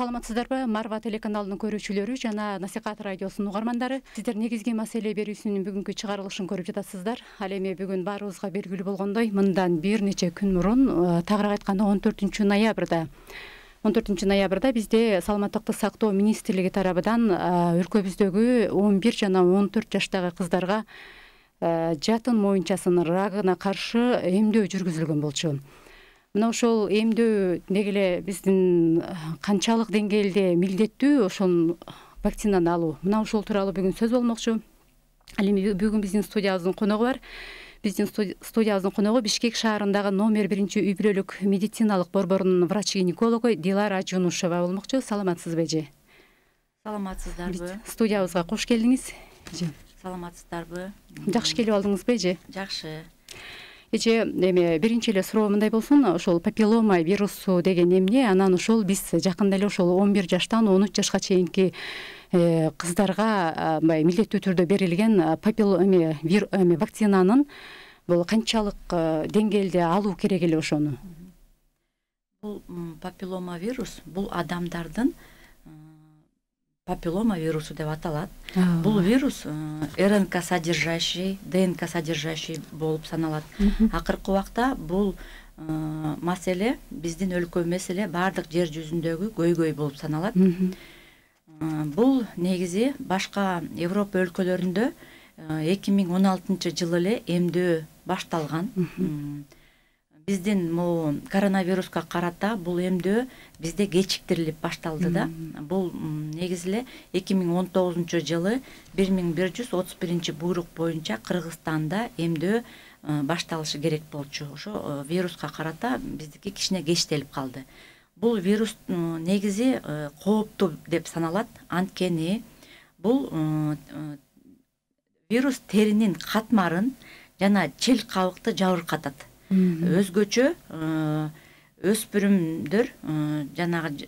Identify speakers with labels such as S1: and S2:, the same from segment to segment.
S1: Саламатсыздарбы? Марва телеканалынын көрүүчүлөрү жана Насихат радиосунун угармандары. Сиздер негизги маселе берүүсүнүн бүгүнкү чыгарылышын көрүп жатасыздар. Ал эми бүгүн баарыбызга белгилүү болгондой, мындан бир нече күн мурун, тагыраак айтканда 14 ноябрда бизде Саламаттыкты сактоо министрлиги тарабынан өлкөбүздөгү 11 жана 14 жаштагы кыздарга жатын моюнчасынын рагына каршы эмдөө жүргүзүлгөн болчу. Мына ошол эмдөө деги эле биздин канчалык деңгээлде милдеттүү ошол вакцинаны алуу. Мына ошол тууралуу бүгүн сөз болмокчу. Ал эми бүгүн биздин студиябыздын коногу бар. Биздин студиябыздын коногу Бишкек шаарындагы номер 1 үй бүлөлүк медициналык борборунун врач-гинекологу Дилара Жунушева болмокчу. Саламатсызбы эже?
S2: Саламатсыздарбы?
S1: Студиябызга кош келдиңиз.
S2: Саламатсыздарбы?
S1: Жакшы келип алдыңызбы эже?
S2: Жакшы.
S1: Эже, эми биринчи эле суроо мындай болсун, ошол папиллома вирусу деген эмне? Анан ошол биз жакында эле ошол 11 жаштан 13 жашка чейинки кыздарга милдеттүү түрдө берилген вакцинанын бул канчалык деңгээлде алуу керек эле ошону?
S2: Бул папиллома вирус бул адамдардын папиллома вирусу деп аталат. Бул вирус РНК содержащий, ДНК содержащий болуп саналат. Акыркы убакта бул маселе биздин өлкө эмес эле баардык жер жүзүндөгү көйгөй болуп саналат. Бул негизи башка Европа өлкөлөрүндө 2016 жылы эле эмдөө башталган. Биздин могу коронавируска карата бул эмдөө бизде кечиктирилип башталды да. Бул негизи эле 2019 жылы 1131 буйрук боюнча Кыргызстанда эмдөө башталышы керек болчу. Ошо вируска карата биздики кичине кечтелип калды. Бул вирус негизи кооптуу деп саналат. Анткени бул вирус теринин катмарын жана чел кабыкты жабыркатат. Өзгөчө өспүрүмдөр жанагы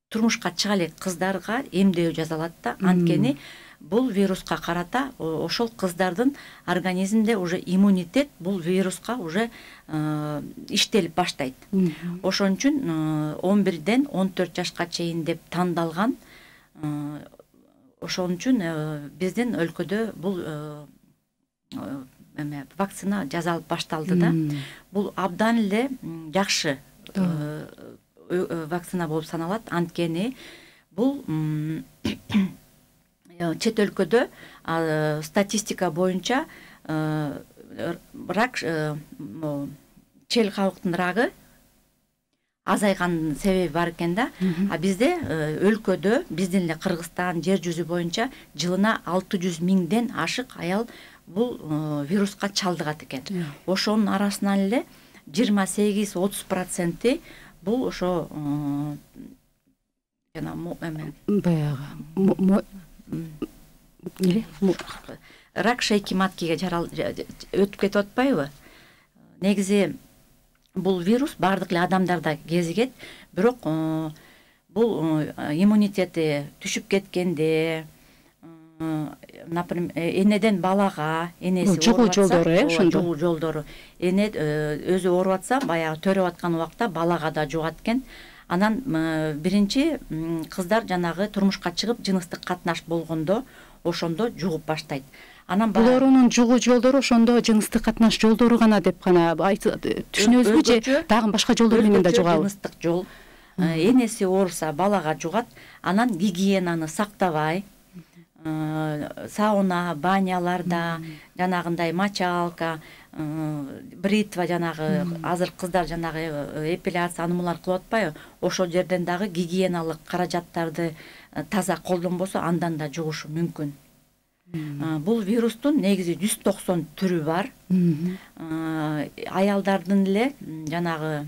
S2: турмушка чыга элек кыздарга эмдөө жасалат да. Анткени бул вируска карата ошол кыздардын организминде уже иммунитет бул вируска уже иштелип баштайт. Ошон үчүн 11ден 14 жашка чейин деп тандалган. Ошон үчүн биздин өлкөдө бул вакцина жасалып башталды да. Бул абдан эле жакшы вакцина болуп саналат. Анткени бул чет өлкөдө статистика боюнча рак чел кабыктын рагы азайган себеби бар экен да. А бизде өлкөдө биздин эле Кыргызстан жер жүзү боюнча жылына 600 миңден ашык аял бул вируска чалдыгат экен. Ошонун арасынан эле 28-30% бул ошо жана рак шейки маткиге өтүп кетип атпайбы? Негизи бул вирус баардык эле адамдарда кезигет, бирок бул иммунитети түшүп кеткенде, например, энеден балага, энеси
S1: жугуу жолдору,
S2: жугуу жолдору. Эне өзү ооруп атса, баягы төрөп аткан убакта балага да жугат экен. Анан биринчи кыздар жанагы турмушка чыгып жыныстык катнаш болгондо, ошондо жугуп баштайт. Анан
S1: бул оорунун жугуу жолдору ошондо жыныстык катнаш жолдору гана деп гана түшүнөбүзбү же дагы башка жолдор менен да жугабы?
S2: Жыныстык жол. Энеси ооруса балага жугат. Анан гигиенаны сактабай, сауна, баняларда, жанагындай мочалка, бритва, жанагы азыр кыздар жанагы эпиляция анымалар кылып атпайбы? Ошол жерден дагы гигиеналык каражаттарды таза колдонбосо андан да жугушу мүмкүн. Бул вирустун негизи 190 түрү бар. Аялдардын эле жанагы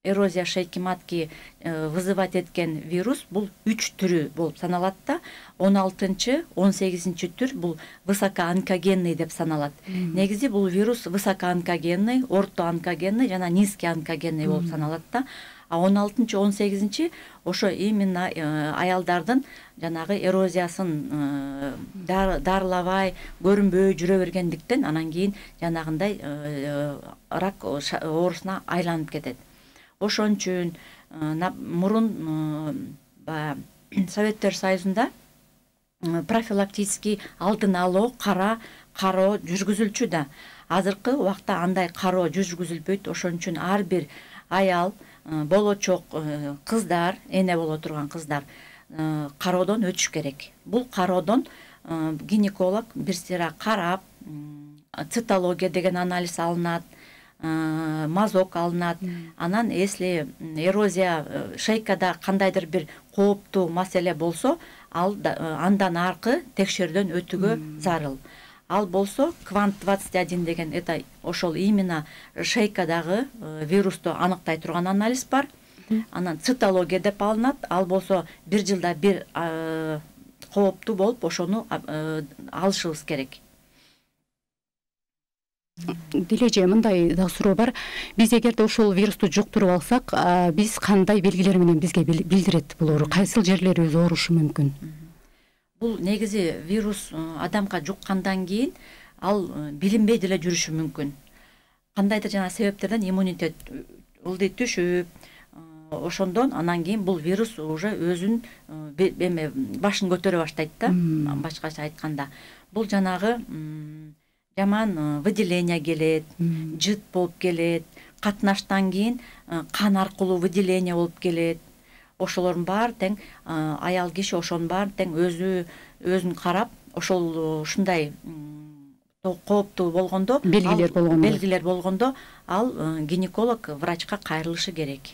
S2: эрозия шейки матки вызывать эткен вирус бул 3 түрү болуп саналат да. 16-18 түр бул высокоонкогенный деп саналат. Негизи бул вирус высокоонкогенный, ортоонкогенный жана низкоонкогенный болуп саналат да. А 16-18 ошо именно аялдардын жанагы эрозиясын дарылабай, көрүнбөй жүрө бергендиктен анан кийин жанагындай рак оорусуна айланып кетет. Ошон үчүн мурун Советтер Союзунда профилактический алдын алуу кароо жүргүзүлчү да. Азыркы убакта андай кароо жүргүзүлбөйт. Ошон үчүн ар бир аял, болочок кыздар, эне боло турган кыздар кароодон өтүш керек. Бул кароодон гинеколог бир сыйра карап, цитология деген анализ алынат, мазок алынат. Анан если эрозия шейкада кандайдыр бир кооптуу маселе болсо, андан аркы текшерүүдөн өтүүгө зарыл. Ал болсо Квант 21 деген это ошол именно шейкадагы вирусту аныктай турган анализ бар. Анан цитология деп алынат. Ал болсо бир жылда бир кооптуу болуп, ошону алышыбыз керек.
S1: Дилеже, мындай да суроо бар. Биз эгерде ошол вирусту жуктуруп алсак, биз кандай белгилер менен бизге билдирет бул оору? Кайсыл жерлерибиз оорушу мүмкүн?
S2: Бул негизи вирус адамга жуккандан кийин ал билинбей деле жүрүшү мүмкүн. Кандайдыр жана себептерден иммунитет ылдый түшүп, ошондон анан кийин бул вирус уже өзүн башын көтөрө баштайт да, башкача айтканда. Бул жанагы жаман выделение келет, жыт болуп келет, катнаштан кийин кан аркылуу выделение болуп келет. Ошолордун баары тең аял киши ошонун баарын тең өзүн карап, ошол ушундай кооптуу болгондо, белгилер болгондо ал гинеколог врачка кайрылышы керек.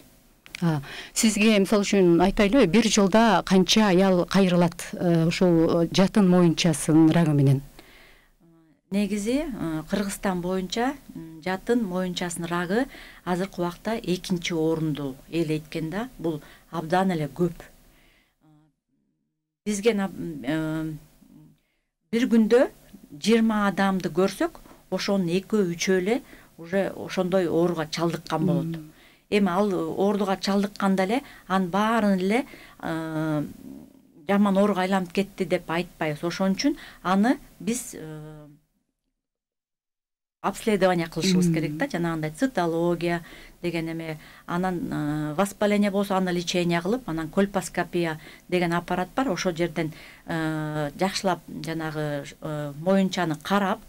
S1: Сизге мисалы үчүн айтайлы, бир жылда канча аял кайрылат ушул жатын моюнчасын рагы менен?
S2: Негизи Кыргызстан боюнча жатын моюнчасынын рагы азыркы убакта 2-чи орунду ээлейт да. Бул абдан эле көп. Бизге бир күндө 20 адамды көрсөк, ошонун 2-3 эле уже ошондой ооруга чалдыккан болот. Эми ал ооруга чалдыкканда эле анын баарын эле жаман ооруга айланып кетти деп айтпайбыз. Ошон үчүн аны биз обследование кылышыбыз керек да, жанагындай цитология деген эме, анан воспаление болсо аны лечение кылып, анан кольпоскопия деген аппарат бар, ошол жерден жакшылап жанагы моюнчаны карап,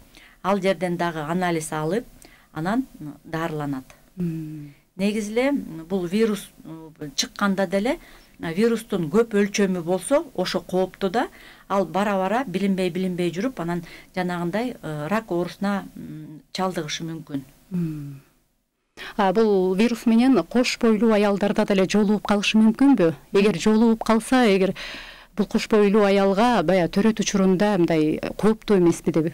S2: ал жерден дагы анализ алып, анан дарыланат. Негизи эле бул вирус чыкканда деле вирустун көп өлчөмү болсо, ошо кооптуу да, ал бара билинбей жүрүп, анан жанагындай рак оорусуна чалдыгышы мүмкүн.
S1: Бул вирус менен кош бойлуу аялдарда деле жолугуп калышы мүмкүнбү? Эгер жолугуп калса, эгер бул кош бойлуу аялга баягы төрөт учурунда мындай кооптуу эмеспи деп?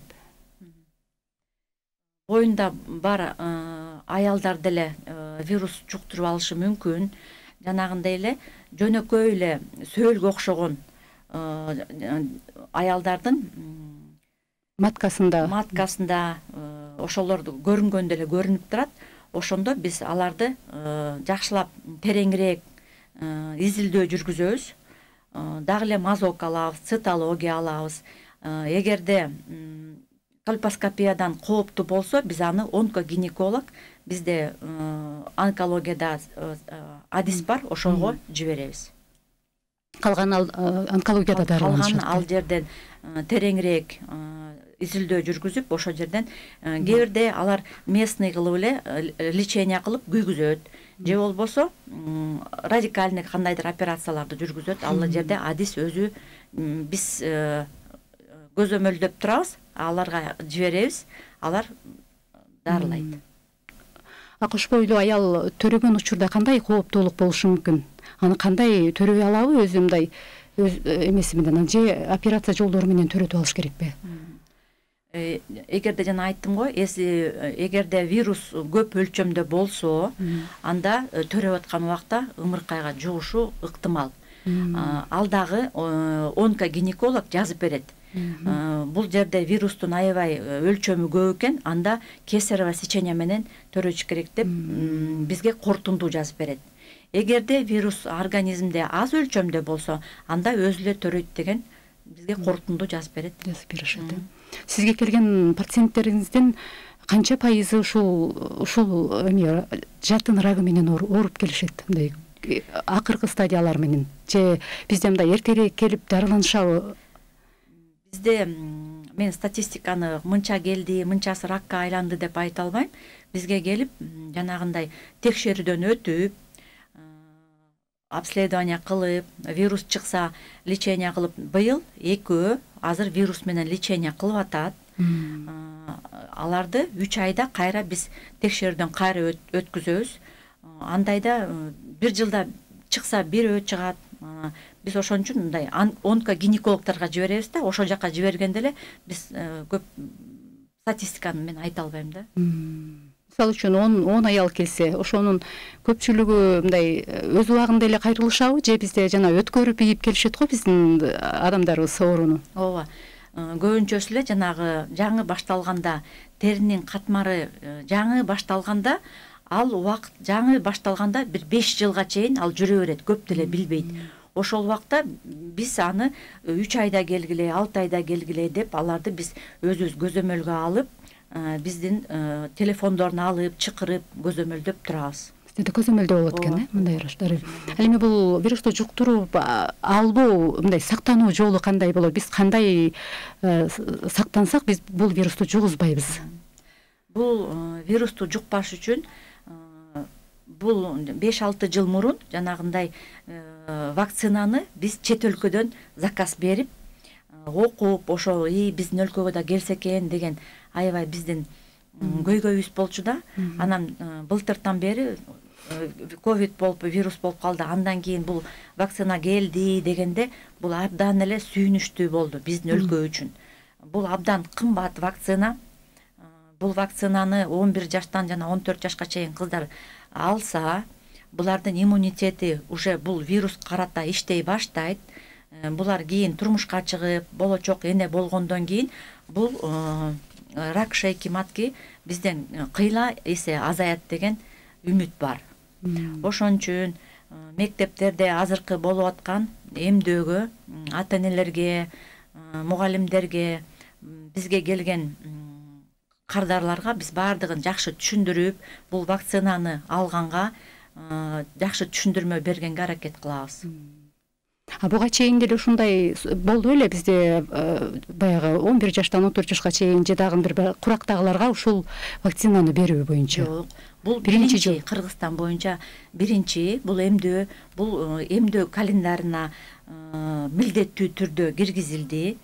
S2: Боюнда бар аялдар деле вирус жуктуруп алышы мүмкүн. Жанагындай эле жөнөкөй эле сөөлгө окшогон аялдардын маткасында ошолорду көрүнгөндө эле көрүнүп турат. Ошондо биз аларды жакшылап тереңирээк изилдөө жүргүзөбүз. Дагы эле мазок алабыз, цитология алабыз. Эгерде кольпоскопиядан кооптуу болсо, биз аны онкогинеколог, бизде онкологияда адис бар, ошого жиберебиз.
S1: Калган онкологияда дарыланышат.
S2: Калган ал жерден тереңирээк изилдөө жүргүзүп, ошол жерден кээ бирде алар местный кылып эле лечение кылып күйгүзөт. Же болбосо радикальный кандайдыр операцияларды жүргүзөт. Ал жерде адис өзү биз көзөмөлдөп турабыз, аларга жиберебиз, алар дарылайт.
S1: Кош бойлуу аял төрөгөн учурда кандай кооптуулук болушу мүмкүн? Аны кандай төрөй алабы, өзү мындай эмеси менен, же операция жолдору менен төрөтүп алыш керекпи?
S2: Эгерде жана айттым го, эгерде вирус көп өлчөмдө болсо, анда төрөп аткан убакта ымыркайга жугушу ыктымал. Ал дагы онкогинеколог жазып берет. Бул жерде вирустун аябай өлчөмү көп экен, анда кесарево сечение менен төрөш керек деп бизге корутундуу жазып берет. Эгерде вирус организмде аз өлчөмдө болсо, анда өзү эле төрөйт деген бизге корутундуу жазып берет.
S1: Жазып беришет. Сизге келген пациенттериңиздин канча пайызы ушул жатын рагы менен ооруп келишет? акыркы стадиялар менен же бизде мындай эртерээк келип дарыланышабы?
S2: Бизде мен статистиканы мынча келди, мынчасы ракка айланды деп айта албайм. Бизге келип жанагындай текшерүүдөн өтүп, обследование кылып, вирус чыкса лечение кылып, быйыл экөө азыр вирус менен лечение кылып атат. Аларды 3 айда кайра биз текшерүүдөн кайра өткүзөбүз. Андайда бир жылда чыкса бирөө чыгат. Биз ошон үчүн мындай онкогинекологторго жиберебиз да, ошол жака жибергенде эле биз көп статистиканы мен айта албайм да.
S1: Мисалы үчүн 10 аял келсе, ошонун көпчүлүгү мындай өз убагында эле кайрылышабы же бизде жана өткөрүп ийип келишет го биздин адамдарыбыз ооруну?
S2: Ооба. Көбүнчөсү эле жанагы жаңы башталганда, теринин катмары жаңы башталганда, ал убакыт жаңы башталганда бир 5 жылга чейин ал жүрө берет, көп деле билбейт. Ошол убакта биз аны 3 айда келгиле, 6 айда келгиле деп аларды биз өзүбүз көзөмөлгө алып, биздин телефондорун алып, чакырып көзөмөлдөп турабыз.
S1: Бизде көзөмөлдөө болот экен, мындай ыраштар. Ал эми бул вирусту жуктуруп албоо, мындай сактануу жолу кандай болот? Биз кандай сактансак, биз бул вирусту жугузбайбыз?
S2: Бул вирусту жукпаш үчүн бул 5-6 жыл мурун жанагындай вакцинаны биз чет өлкөдөн заказ берип, окуп, ошо биздин өлкөгө да келсе экен деген аябай биздин көйгөйүбүз болчу да. Анан былтыртан бери ковид болуп, вирус болуп калды. Андан кийин бул вакцина келди дегенде бул абдан эле сүйүнүчтүү болду биздин өлкө үчүн. Бул абдан кымбат вакцина. Бул вакцинаны 11 жаштан жана 14 жашка чейин кыздар алса, булардын иммунитети уже бул вирус карата иштей баштайт. Булар кийин турмушка чыгып, болочок эне болгондон кийин бул рак шейки матки бизден кыйла эсе азаят деген үмүт бар. Ошон үчүн мектептерде азыркы болуп аткан эмдөөгө, ата-энелерге, мугалимдерге, бизге келген кардарларга биз баардыгын жакшы түшүндүрүп, бул вакцинаны алганга жакшы түшүндүрмө бергенге аракет кылабыз.
S1: Буга чейин деле ушундай болду беле бизде баягы 11 жаштан 14 жашка чейин же дагы бир курактагыларга ушул вакцинаны берүү боюнча?
S2: Жок, бул биринчи Кыргызстан боюнча биринчи бул эмдөө календарына милдеттүү түрдө киргизилди.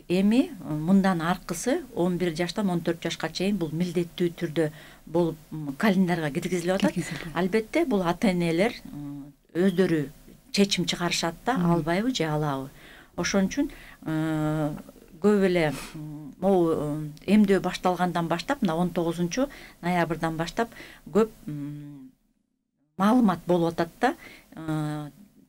S2: Эми мындан аркысы 11 жаштан 14 жашка чейин бул милдеттүү түрдө болуп календарга киргизилип атат. Албетте бул ата-энелер өздөрү чечим чыгарышат да, албайбы же алабы. Ошон үчүн көп эле могу эмдөө башталгандан баштап, мына 19 ноябрдан баштап көп маалымат болуп атат да.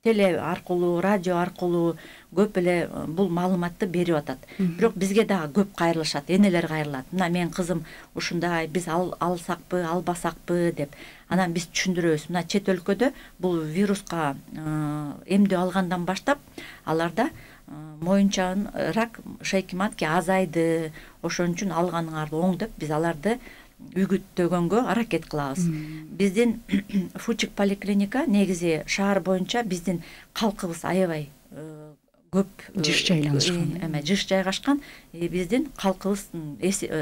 S2: Теле аркылуу, радио аркылуу көп эле бул маалыматты берип атат. Бирок бизге дагы көп кайрылышат, энелер кайрылат. Мына менин кызым ушундай, биз алсакпы, албасакпы деп. Анан биз түшүндүрөбүз. Мына чет өлкөдө бул вируска эмдөө алгандан баштап аларда моюнчан рак шейки матки азайды. Ошон үчүн алганыңарды оң деп биз аларды үгүттөгөнгө аракет кылабыз. Биздин Фучик поликлиника негизи шаар боюнча биздин калкыбыз аябай көп
S1: жыш жайланышкан.
S2: Жыш жайгашкан. Биздин калкыбыз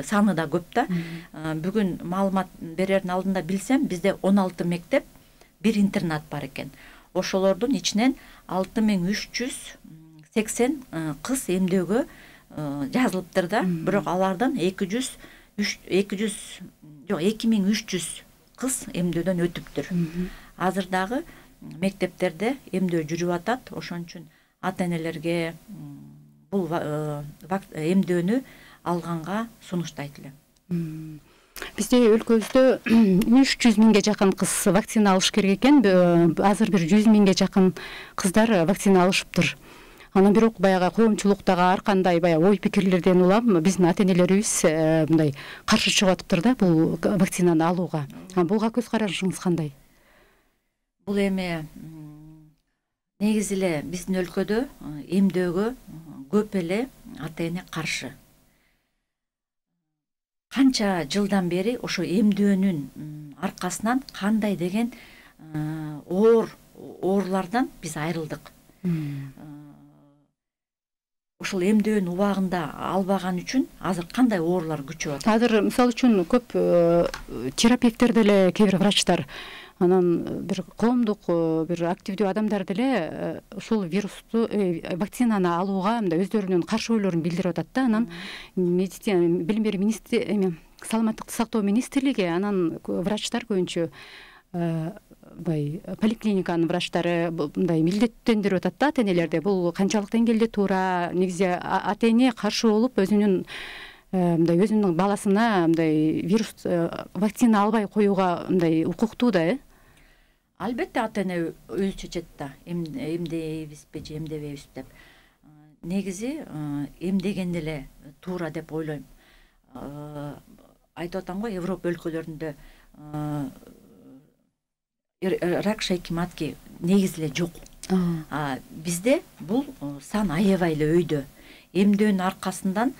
S2: саны да көп да. Бүгүн маалымат берердин алдында билсем, бизде 16 мектеп, бир интернат бар экен. Ошолордун ичинен 6380 кыз эмдөөгө жазылыптыр да. Бирок алардан 2300 кыз эмдөөдөн өтүптүр. Азыр дагы мектептерде эмдөө жүрүп атат. Ошон үчүн ата-энелерге бул эмдөөнү алганга сунуштайт элем.
S1: Бизде өлкөбүздө 300 миңге жакын кыз вакцина алыш керек экен. Азыр бир 100 миңге жакын кыздар вакцина алышыптыр. Анан бирок баягы коомчулуктагы ар кандай ой пикирлерден улам биздин ата-энелерибиз мындай каршы чыгып атыптыр да бул вакцинаны алууга. Буга көз карашыңыз кандай?
S2: Бул эми негизи эле биздин өлкөдө эмдөөгө көп эле ата-эне каршы. Канча жылдан бери ошо эмдөөнүн аркасынан кандай деген оорулардан биз айрылдык. Ушул эмдөөнүн убагында албаган үчүн азыр кандай оорулар күчөп атат?
S1: Азыр мисалы үчүн көп терапевттер деле, кээ бир врачтар, анан бир коомдук бир активдүү адамдар деле ушул вирусту, вакцинаны алууга мындай өздөрүнүн каршы ойлорун билдирип атат да. Анан медицина, билим берүү министрлиги, саламаттыкты сактоо министрлиги, анан врачтар көбүнчө поликлиниканын врачтары мындай милдеттендирип атат да ата энелерди. Бул канчалык деңгээлде туура? Негизи ата эне каршы болуп өзүнүн баласына мындай вирус вакцина албай коюуга мындай укуктуу да.
S2: Албетте ата эне өзү чечет да, эмдейбизби же эмдебейбиз деп. Негизи эмдеген эле туура деп ойлойм. Айтып атам го, Европа өлкөлөрүндө рак шейки матки негизи эле жок. Бизде бул сан аябай эле өйдө. Эмдөөнүн аркасынан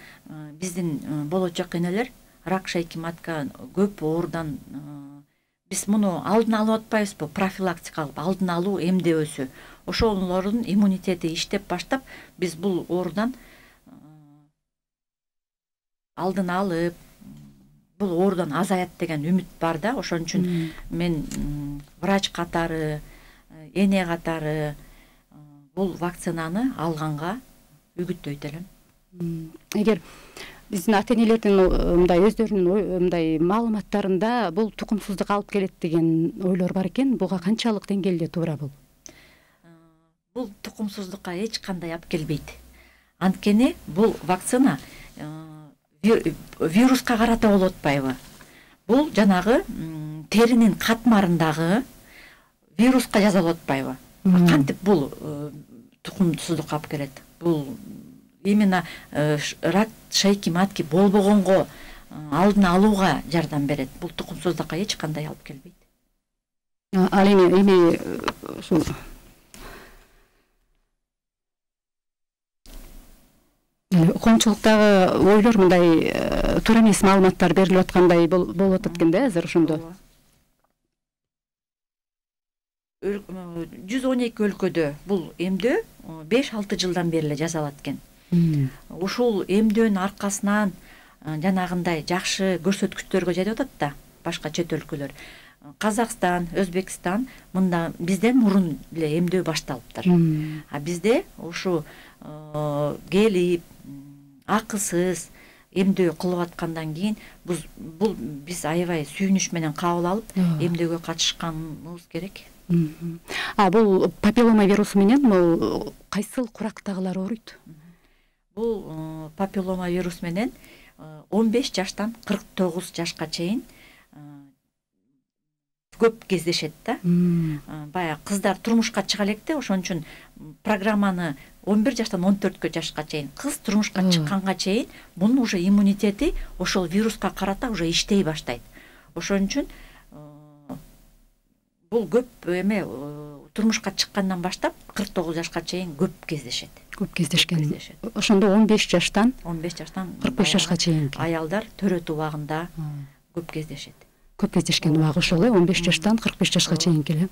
S2: биздин болочок энелер рак шейки матка көп оорудан биз муну алдын алып атпайбызбы? Профилактикалык алдын алуу эмдөөсү. Ошолордун иммунитети иштеп баштап, биз бул оорудан алдын алып, бул оорудан азаят деген үмүт бар да. Ошон үчүн мен врач катары, эне катары бул вакцинаны алганга үгүттөйт элем.
S1: Эгер биздин ата энелердин мындай өздөрүнүн мындай маалыматтарында бул тукумсуздук алып келет деген ойлор бар экен, буга канчалык деңгээлде туура бул?
S2: Бул тукумсуздукка эч кандай алып келбейт. Анткени бул вакцина вируска карата болуп атпайбы? Бул жанагы теринин катмарындагы вируска жасалып атпайбы? Кантип бул тукумсуздукка алып келет? Бул именно рак шейки матки болбогонго алдын алууга жардам берет. Бул тукумсуздукка эч кандай алып келбейт.
S1: Ал эми ушул коомчулуктагы ойлор мындай туура эмес маалыматтар берилип аткандай болуп атат экен да азыр ошондо.
S2: 112 өлкөдө бул эмдөө 5-6 жылдан бери эле жасалат экен. Ушул эмдөөнүн аркасынан жанагындай жакшы көрсөткүчтөргө жетип атат да башка чет өлкөлөр. Казакстан, Өзбекстан мында бизден мурун эле эмдөө башталыптыр. Бизде ушу келип акысыз эмдөө кылып аткандан кийин бул биз аябай сүйүнүч менен кабыл алып эмдөөгө катышканыбыз керек.
S1: Бул папиллома вирусу менен бул кайсыл курактагылар ооруйт?
S2: Бул папиллома вирус менен 15 жаштан 49 жашка чейин көп кездешет да. Баягы кыздар турмушка чыга электе, ошон үчүн программаны 11 жаштан 14 жашка чейин, кыз турмушка чыкканга чейин мунун уже иммунитети ошол вируска карата уже иштей баштайт. Ошон үчүн бул көп эме турмушка чыккандан баштап 49 жашка чейин көп кездешет.
S1: Көп кездешкен. Ошондо 15 жаштан
S2: 45
S1: жашка чейин
S2: аялдар төрөт убагында көп кездешет.
S1: Көп кездешкен убагы ошол 15 жаштан 45 жашка чейин келе.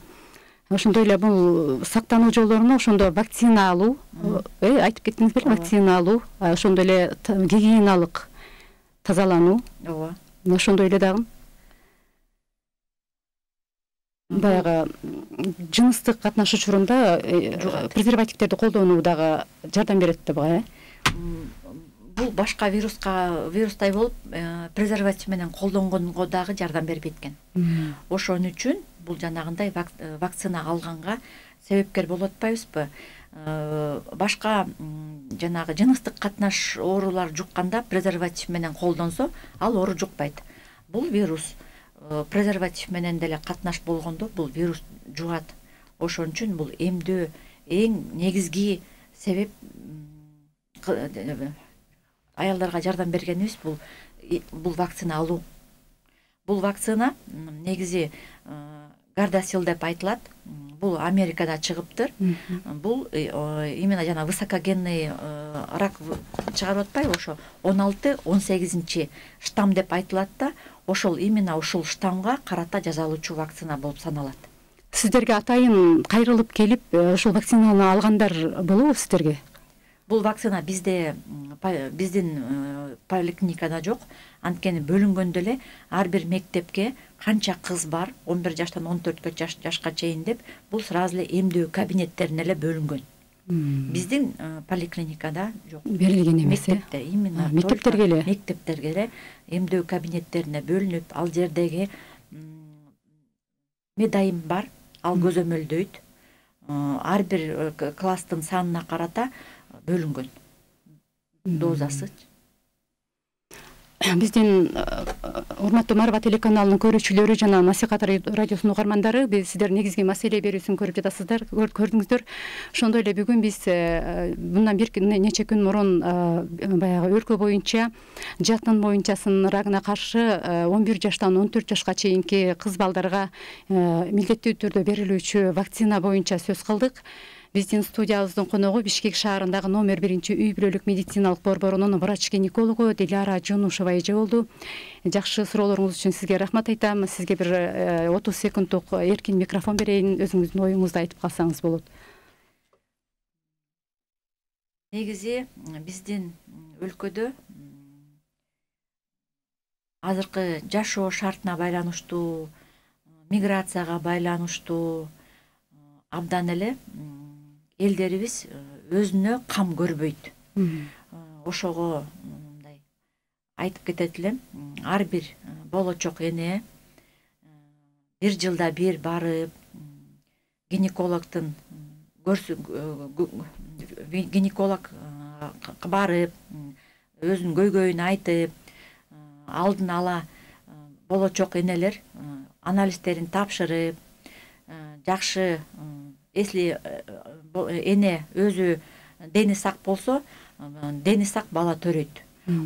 S1: Ошондой эле бул сактануу жолдоруна ошондо вакцина алуу, айтып кеттиңиз беле, вакцина алуу, ошондой эле гигиеналык тазалануу.
S2: Ооба.
S1: Ошондой эле дагы баягы жыныстык катнаш учурунда презервативтерди колдонуу дагы жардам берет да буга, Бул башка вирустай болуп, презерватив менен колдонгонго дагы жардам бербейт экен. Ошон үчүн бул жанагындай вакцина алганга себепкер болуп атпайбызбы? Башка жанагы жыныстык катнаш оорулар жукканда презерватив менен колдонсо, ал оору жукпайт. Бул вирус презерватив менен деле катнаш болгондо бул вирус жугат. Ошон үчүн бул эмдөө эң негизги себеп аялдарга жардам бергенибиз бул вакцина алуу. Бул вакцина негизи Gardasil деп айтылат. Бул Америкада чыгыптыр. Бул именно жана высокогенный рак чыгарып атпайбы, ошо 16-18 штамм деп айтылат да, ошол именно ушул штаммга карата жасалуучу вакцина болуп саналат. Сиздерге атайын кайрылып келип ушул вакцинаны алгандар болобу сиздерге?
S2: Бул вакцина биздин поликлиникада жок. Анткени бөлүнгөндө эле ар бир мектепке канча кыз бар 11 жаштан 14 жашка чейин деп бул сразу эле эмдөө кабинеттерине эле бөлүнгөн. Биздин поликлиникада жок.
S1: Берилген эмес.
S2: Мектепте именно мектептерге эле эмдөө кабинеттерине бөлүнүп, ал жердеги медайым бар, ал көзөмөлдөйт. Ар бир класстын санына карата бөлүнгөн дозасы. Биздин
S1: урматтуу Марва телеканалынын көрүүчүлөрү жана Насихат радиосунун угармандары, сиздер негизги маселе берүүсүн көрүп жатасыздар, көрдүңүздөр. Ошондой эле бүгүн биз мындан бир нече күн мурун баягы өлкө боюнча жатын моюнчасынын рагына каршы 11 жаштан 14 жашка чейинки кыз балдарга милдеттүү түрдө берилүүчү вакцина боюнча сөз кылдык. Биздин студиябыздын коногу Бишкек шаарындагы номер 1 үй бүлөлүк медициналык борборунун врач-гинекологу Диляра Жунушева эже болду. Жакшы суроолоруңуз үчүн сизге рахмат айтам. Сизге бир 30 секунддук эркин микрофон берейин, өзүңүздүн оюңузду айтып калсаңыз болот.
S2: Негизи биздин өлкөдө азыркы жашоо шартына байланыштуу, миграцияга байланыштуу абдан эле элдерибиз өзүнө кам көрбөйт. Ошого мындай айтып кетет элем, ар бир болочок эне бир жылда бир барып гинекологдун гинеколог барып өзүнүн көйгөйүн айтып, алдын ала болочок энелер анализдерин тапшырып, жакшы если эне өзү дени сак болсо, дени сак бала төрөйт.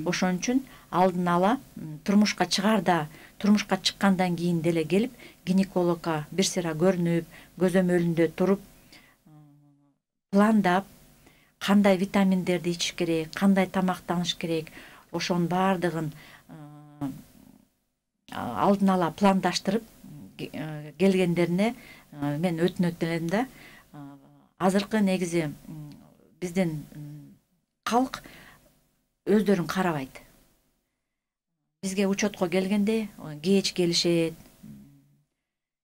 S2: Ошон үчүн алдын ала турмушка чыккандан кийин деле келип гинекологко бир сыйра көрүнүп, көзөмөлүндө туруп, пландап, кандай витаминдерди ичиш керек, кандай тамактаныш керек, ошонун баардыгын алдын ала пландаштырып келгендерине мен өтүнөт элем да. Азыркы негизи биздин калк өздөрүн карабайт. Бизге учетко келгенде кеч келишет.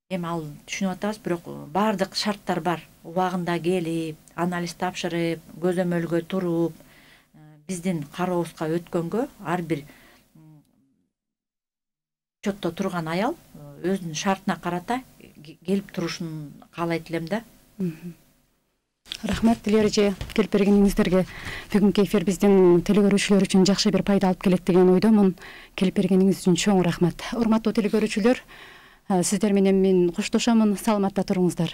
S2: Эми ал түшүнүп атабыз, бирок баардык шарттар бар. Убагында келип, анализ тапшырып, көзөмөлгө туруп, биздин карообузга өткөнгө ар бир учетто турган аял өзүнүн шартына карата келип турушун каалайт элем да.
S1: Рахмат Диляра эже, келип бергениңиздерге. Бүгүнкү эфир биздин телекөрүүчүлөр үчүн жакшы бир пайда алып келет деген ойдомун. Келип бергениңиз үчүн чоң рахмат. Урматтуу телекөрүүчүлөр, сиздер менен мен коштошомун. Саламатта туруңуздар.